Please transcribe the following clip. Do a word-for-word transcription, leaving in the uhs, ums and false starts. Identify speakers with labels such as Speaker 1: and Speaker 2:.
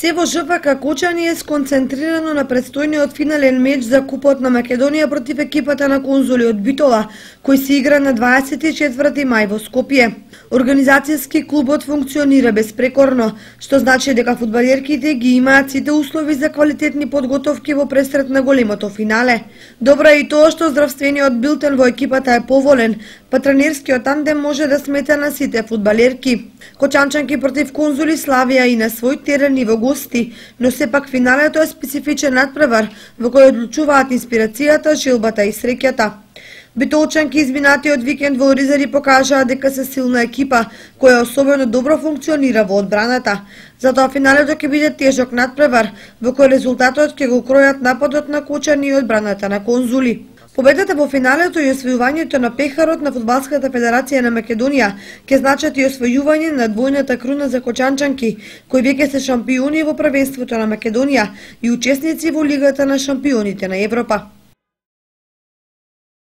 Speaker 1: Се во ЖФК Кочани е сконцентрирано на предстојниот финален меч за Купот на Македонија против екипата на Конзули од Битола, кој се игра на дваесет и четврти мај во Скопје. Организацијски клубот функционира безпрекорно, што значи дека фудбалерките ги имаат сите услови за квалитетни подготовки во пресрет на големото финале. Добро е и тоа што здравствениот билтен во екипата е поволен, па тренерскиот тандем може да смета на сите фудбалерки. Кочанчанки против Конзули славија и на свој терен и во гости, но сепак финалето е специфичен надпревар во кој одлучуваат инспирацијата, жилбата и среќата. Битолчанки изминатиот викенд во Оризари покажаа дека се силна екипа, која особено добро функционира во одбраната. Затоа финалето ќе биде тежок надпревар, во кој резултатот ќе го кројат нападот на Кочани и одбраната на Конзули. Победата во финалето и освојувањето на пехарот на Фудбалската федерација на Македонија ќе значат и освојување на двојната круна за кочанчанки, кои веќе се шампиони во првенството на Македонија и учесници во Лигата на шампионите на Европа.